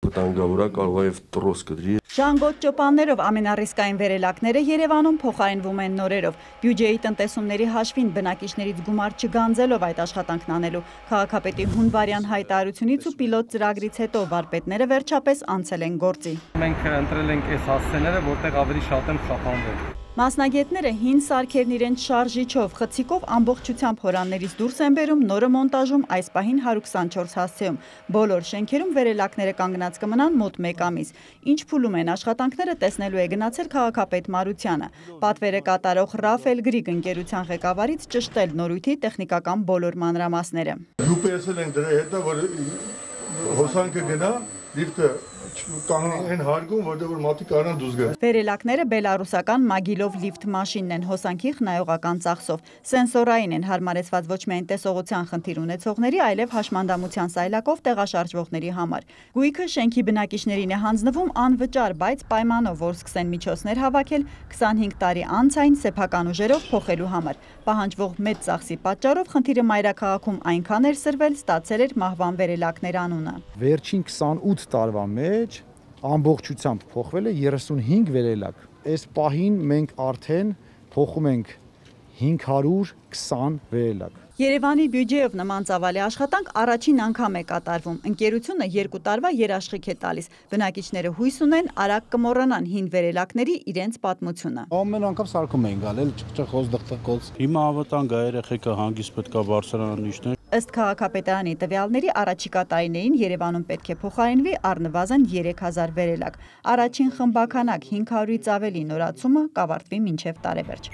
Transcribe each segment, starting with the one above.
Վտանգավոր է, կարող է եւ տրոս կդրի։ Ժանգոտ ճոպաններով ամենառիսկային վերելակները Երևանում փոխարինվում են նորերով։ Բյուջեի տնտեսումների հաշվին բնակիչներից գումար չգանձելով այդ աշխատանքն անելու քաղաքապետի հունվարյան հայտարարությունից ու պիլոտ ծրագրից հետո վարպետները վերջապես անցել են գործի։ Մենք ընտրել ենք այս հասցեները, որտեղ ավելի շատ են խափանվել։ Մասնագետները հին սարքերն իրենց շարժիչով, խցիկով ամբողջությամբ հորաններից դուրս են բերում, նորը մոնտաժում այս պահին 124 հասցեում։ Բոլոր շենքերում վերելակները կանգնած կմնան մոտ 1 ամիս։ Ինչ փուլում են աշխատանքները, տեսնելու է գնացել քաղաքապետ Մարությանը։ Պատվերը կատարող Ռաֆել Գրիգ ընկերության ղեկավարից ճշտել նորույթի տեխնիկական բոլոր մանրամասները։ UPS-ել ենք դրա հետո, որ հոսանքը գնա, լիֆտը կանգնեն հարգում, որտեղ որ մարդիկ կարան դուրս գան։ Վերելակները բելարուսական Մագիլով լիֆտ մաշինն են հոսանքի խնայողական ծախսով։ Սենսորային են, հարմարեցված ոչ միայն տեսողության խնդիր ունեցողների, այլև հաշմանդամության սայլակով տեղաշարժվողների համար։ Գույքը շենքի բնակիչներին է հանձնվում անվճար, բայց պայմանով, որ սկսեն միջոցներ հավաքել 25 տարի անց այն սեփական ուժերով փոխելու համար։ Պահանջվող մեծ ծախսի պատճառով խնդիրը մայրաքաղաքում այնքան էր սրվել, ստացել էր մահվան վերելակներ անունը։ Վերջին 28 տարվա մեջ ամբողջությամբ փոխվել է 35 վերելակ։ Այս պահին մենք արդեն փոխում ենք 520 վերելակ։ Երևանի բյուջեով նման ծավալի աշխատանք առաջին անգամ է կատարվում։ Ընկերությունը 2 տարվա երաշխիք է տալիս։ Բնակիչները հույս ունեն արագ կմոռանան հին վերելակների իրենց պատմությունը։ Ամեն անգամ սարքում էին գալել, ճղճղոց, դղտղոց։ Հիմա ավտանգ է, երեխեքը հանգիստ պետք է բարձրանան իշներ։ Ըստ քաղաքապետարանի տվյալների առաջիկա տարիներին Երևանում պետք է փոխարինվի առնվազն 3000 վերելակ։ Առաջին խմբականակ 500-ից ավելի նորացումը կավարտվի մինչև տարեվերջ։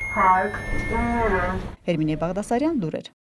Հերմինե Բաղդասարյան, լուրեր։